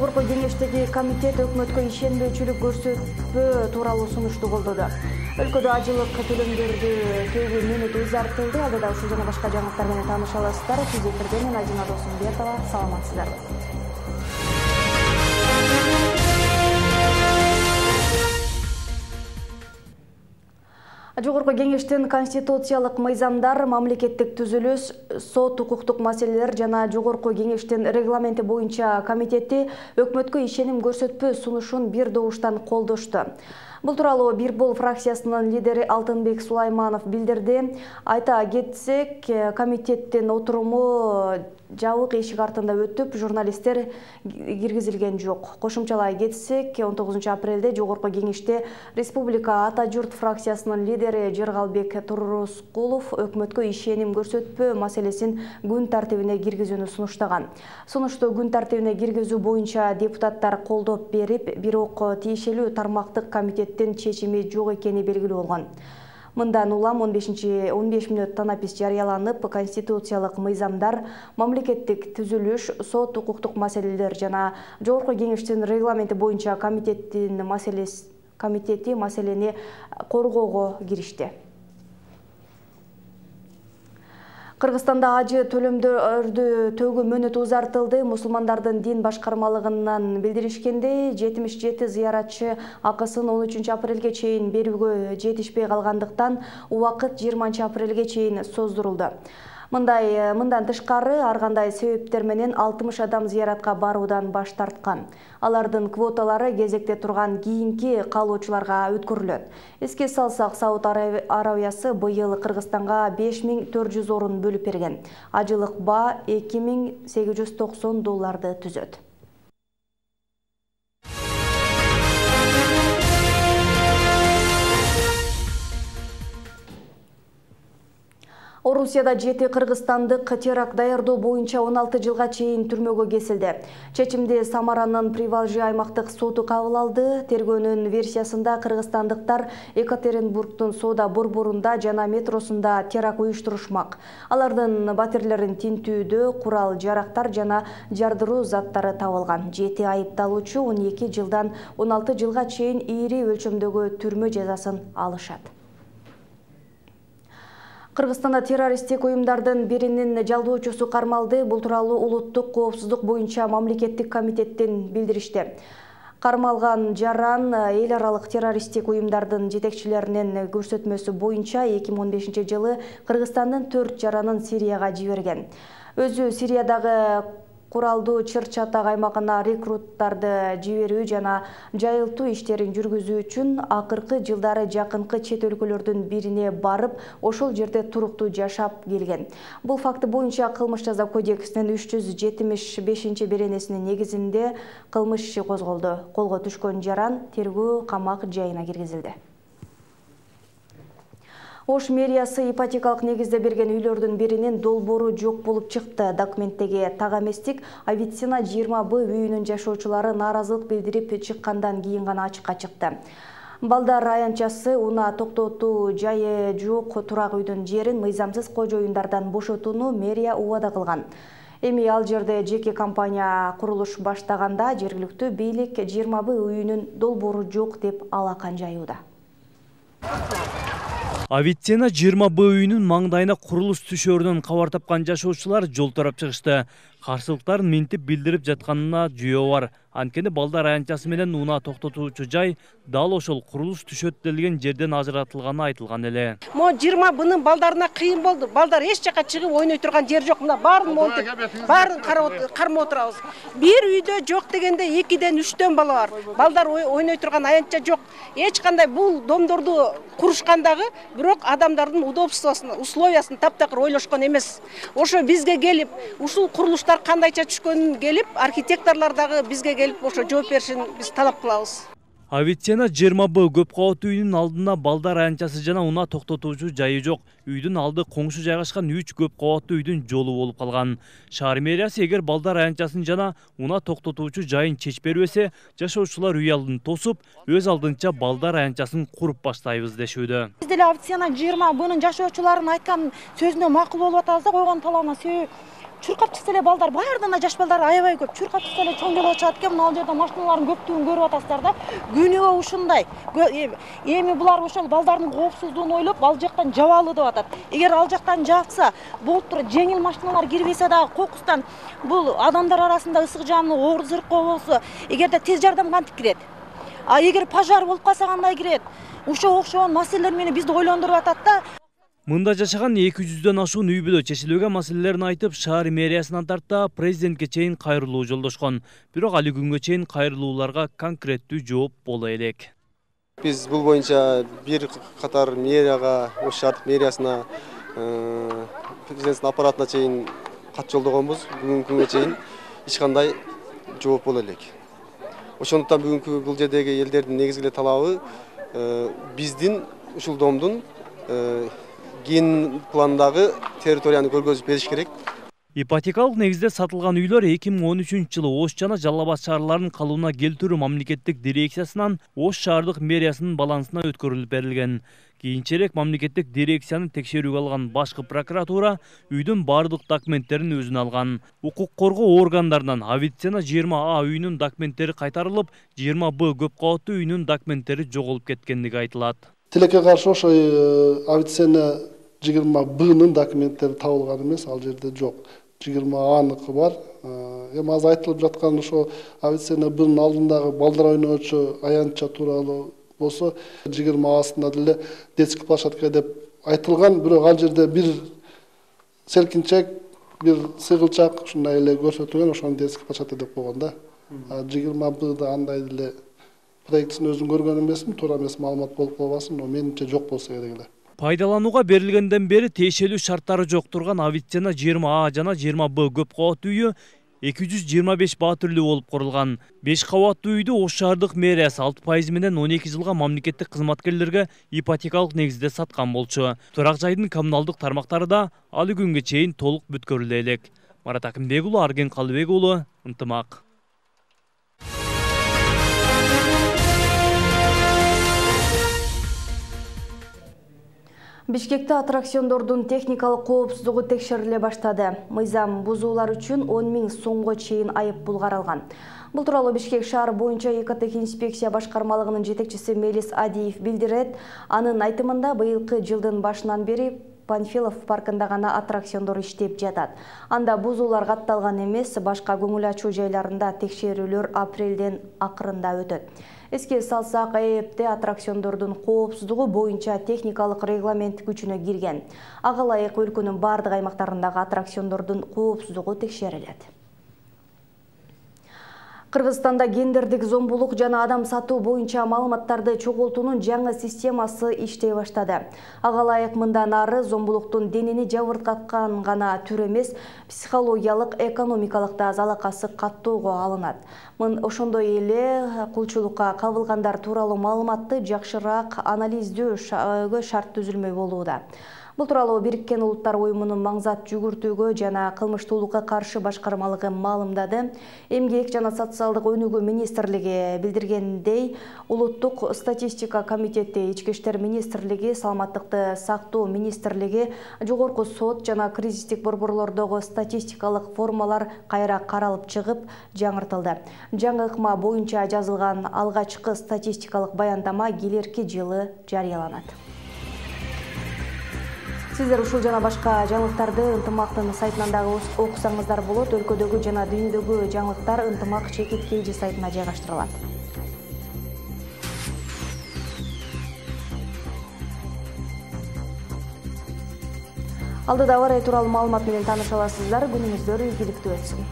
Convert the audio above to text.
Жогорку кеңештеги комитет өкмөткө ишенбөөчүлүк көрсөтпөө тууралуу сунушту колдоду. Өлкөдө ажылык төлөмдөрдү төөгө мөөнөтү узартылды. Алдыда ушул жана башка жаңылыктар менен тааныша аласыздар. Сиз эфирде мен Ажина Досумбетова. Саламатсыздарбы? Жогорку кеңештин конституциялык мыйзамдар, мамлекеттик түзүлүш, сот укуктук маселелер жана Жогорку кеңештин регламенти боюнча комитети өкмөткө ишеним көрсөтпөө сунушун бир добуштан колдошту. Бул тууралуу Бир Бол фракциясынын лидери Алтынбек Сулайманов билдирди. Айта кетсек, комитеттин отуруму жабык эшик артында өтүп, журналисттер киргизилген жок. Кошумчалай кетсек, 19 апрелде Жогорку кеңеште Республика Ата журт фракциясынын лидери Жергалбек Турускулов өкмөткө ишеним көрсөтпөө маселесин күн тартибине киргизүүнү сунуштаган. Сунушту күн тартибине киргизүү боюнча депутаттар колдоп берип, бирок тиешелүү тармактык комитеттин чечими жок экени белгилүү болгон. Мындан улам 15 мүнөт танапис жарыяланып, конституциялык мыйзамдар, мамлекеттик түзүлүш, сот укуктук маселелер жана Жогорку кеңештин регламенти боюнча комитети маселени коргоого киришти. Кыргызстанда ажы төлөмдөрдү төөгө мөөнөтү узартылды. Мусулмандардын дин башкармалыгынан билдиришкендей, 77 зыяратчы акысын 13 апрелге чейин берүүгө жетишпей калгандыктан убакыт 20 апрелге чейин создурулду. Мындан тышкары ар кандай себептер менен 60 адам зыяратка баруудан баш тарткан. Алардын квоталары кезекте турган кийинки каалоочуларга өткөрүлөт. Эске салсак, Сауд Арабиясы быйыл Кыргызстанга 5400 орун бөлүп берген. Ажылык баа $2890 түзөт. Орусияда 7 кыргызстандык теракт даярдоо боюнча 16 жылга чейин түрмөгө кесилди. Чечимди Самаранын Привалжи аймактык соту кабыл алды. Тергөөнүн версиясында кыргызстандыктар Екатеринбургдун соода борборунда жана метросунда теракт уюштурушмак. Алардын батирлерин тинтүүдө курал-жарактар жана жардыруу заттары табылган. 7 айыпталуучу 12 жылдан 16 жылга чейин ири өлчөмдөгү түрмө жазасын алышат. Кыргызстанда террористтик уюмдардын биринин жалдоочусу кармалды. Бул тууралуу улуттук коопсуздук боюнча мамлекеттик комитеттен билдиришти. Кармалган жаран эл аралык террористтик уюмдардын жетекчилеринин көрсөтмөсү боюнча 2015 жылы Кыргызстандын 4 жаранын Сирияга жиберген. Өзү Сириядагы куралдуу чыр-чатак аймагына рекруттарды жиберүү жана жайылтуу иштерин жүргүзүү үчүн акыркы жылдары жакынкы чет өлкөлөрдүн бирине барып, ошол жерде туруктуу жашап келген. Бул факты боюнча Кылмыш жаза кодексинин 375 беренесинин негизинде кылмыш иши козголду. Колго түшкөн жаран тергөө камак жайына киргизилди. Ош мэриясы ипотекалык негизде берген үйлөрдүн биринин долбоору жок болуп чыкты. Документтеги так эместик Авиценна 20Б үйүнүн жашоочулары нааразылык билдирип чыккандан кийин гана ачыкка чыкты. Балдар аянтчасы унаа токтотуу жайы жок турак үйдүн жерин мыйзамсыз кожоюндардан бошотууну мэрия убада кылган. Эми ал жерде жеке компания курулуш баштаганда жергиликтүү бийлик 20Б үйүнүн долбоору жок деп алакан жаюуда. Авиценна 20Б үйүнүн маңдайына курулуш түшөөрүнөн кабар тапкан жашоочулар жол тарап чыгышты. Каршылыктарын минтип билдирип жатканына жүйөө бар. Анткени балдар аянтчасы менен унаа токтотуучу жай дал ошол курулуш түшөт делген жерден ажыратылганы айтылган эле. Мо 20Бнын балдарына кыйын болду. Балдар эч жака чыгып ойной турган жер жок. Мына баарын монтип, баарын кармап отурабыз. Бир үйдө жок дегенде 2ден 3төн бала бар. Балдар ойной турган аянтча жок. Эч кандай бул домдорду курушкандагы бирок адамдардын условиясын таптакыр ойлошкон эмес. Ошо бизге келип, ушул курулуштар кандайча түшкөнүн келип, архитекторлор дагы бизге келип ошо жооп беришин биз талап кылабыз. Авиценна 20Б көп кабаттуу үйүнүн алдына балдар аянтчасы жана унаа токтотуучу жайы жок. Үйдүн алды коңшу жайгашкан 3 көп кабаттуу үйдүн жолу болуп калган. Шаар мэриясы эгер балдар аянтчасын жана унаа токтотуучу жайын чечип бербесе, жашоочулар үй алдын тосуп, өз алдынча балдар аянтчасын куруп баштайбыз дешүүдө. Биз деле Авиценна 20Бнын жашоочуларынын айткан сөзүнө макул болуп атабыз да, койгон талабына чуркап чыкса эле балдар баарынан жаш балдар аябай көп. Чуркап чыкса эле чоң жолго чыгат экен. Мына жерде машиналардын көптүгүн көрүп атасыздар да. Күнөө ушундай. Эми булар ошол балдардын коопсуздугун ойлоп, ал жактан жабалы деп атат. Эгер ал жактан жапса, болуп туруп жеңил машиналар кирбесе дагы кокустан бул адамдар арасында ысык жаны оор зыркоо болсо, эгерде тез жардам кантип кирет? А эгер пожар болуп калса кандай кирет? Ошо окшогон маселелер мени бизди ойлондуруп атат да. Мында жашаган 200дөн ашуун үй бүлө чечилбеген маселелерин айтып, шаар мэриясынан тарта президентке чейин кайрылуу жолдошкон. Бирок али күнгө чейин кайрылууларга конкреттүү жооп боло элек. Биз бул боюнча бир катар мэрияга, ош шаардык мэриясына, президенттин аппаратына чейин кат жолдогонбуз. Бүгүнкү күнгө чейин эч кандай жооп боло элек. Ошондуктан бүгүнкү бул жердеги элдердин негизги талабы биздин ушул домдун ген пландагы территорияны көргөзүп бериш керек. Ипотекалык негизде сатылган үйлөр 2013-жылы Ош жана Жалал Абад шаарларынын калыбына келтирүү мамлекеттик дирекциясынан Ош шаардык мэриясынын балансына өткөрүлүп берилген. Кийинчерээк мамлекеттик дирекцияны текшерүүгө алган башкы прокуратура үйдүн бардык документтерин өзүнө алган. Укук коргоо органдарынан Авиценна 20А үйүнүн документтери кайтарылып, 20Б көп кабаттуу үйүнүн документтери жоголуп кеткендиги айтылат. Тилекке каршы ошо Авиценна 20Б'нын документтери табылган эмес, ал жерде жок. 20A'ныкы бар. Эми азыр айтылып жаткан ошо Авиценна Б'нын алдындагы балдар ойноочу аянтча тууралуу болсо 20A'сында деле детский площадка деп айтылган, бирок ал жерде бир селкинчек, бир сыгылчак ушундай эле көрсөтүлгөн, ошону детский площадка деп койгон да. 20Б'да андай деле проектисин өзүн көргөн эмесмин, туура эмес маалымат болуп калбасын, но менимче жок болсо керек эле. Пайдаланууга берилгенден бери тиешелүү шарттары жок турган Авиценна 20А жана 20Б көп кабаттуу үйү 225 баа түрлүү болуп курулган. 5 кабаттуу үйдү Ош шаардык мэриясы 6% менен 12 жылга мамлекеттик кызматкерлерге ипотекалык негизде саткан болчу. Турак жайдын коммуналдык тармактары да али күнгө чейин толук бүткөрүлө элек. Марат Акимбек уулу, Арген Калыбек уулу, Ынтымак. Бишкекте аттракциондордун техникалык коопсуздугу текшериле баштады. Мыйзам бузуулар үчүн 10 000 сомго чейин айыппул каралган. Бул тууралуу Бишкек шаар боюнча экотех инспекция башкармалыгынын жетекчиси Мелис Адиев билдирет. Анын айтымында быйылкы жылдын башынан бери Панфилов паркында гана аттракциондор иштеп жатат. Анда бузуулар катталган эмес, башка көңүл ачуу жайларында текшерүүлөр апрелден акырында өтөт. Эске салсак, АЭПте аттракциондордун коопсуздугу боюнча техникалык регламент күчүнө кирген. Ага ылайык өлкөнүн бардык аймактарындагы аттракциондордун коопсуздугу текшерилет. Кыргызстанда гендердик зомбулук жана адам сатуу боюнча маалыматтарды чогултуунун жаңы системасы иштей баштады. Ага ылайык мындан ары зомбулуктун денени жабыркаткан гана түр эмес, психологиялык, экономикалык да залакасы каттоого алынат. Ошондой эле кулчулукка кабылгандар тууралуу маалыматты жакшыраак анализдөөгө шарт түзүлмөй болууда. Бул тууралуу Бириккен Улуттар Уюмунун маңзат жүгүртүүгө жана кылмыштуулукка каршы башкармалыгы маалымдады. Эмгек жана социалдык өнүгүү министрлиги билдиргендей, Улуттук статистика комитети, Ички иштер министрлиги, Саламаттыкты сактоо министрлиги, Жогорку сот жана кризистик борборлордогу статистикалык формалар кайра каралып чыгып, жаңыртылды. Жаңы ыкма боюнча жазылган алгачкы статистикалык баяндама келерки жылы жарыяланат. Сиздер ушул жана башка жаңылыктарды Ынтымактын сайтынан дагы окусаңыздар болот. Өлкөдөгү жана дүйнөдөгү жаңылыктар Ынтымак _KG сайтына жайгаштырылат. Алдыда абар тууралуу маалымат менен тааныша аласыздар. Күнүңүздөр ийгиликтүү өтсүн.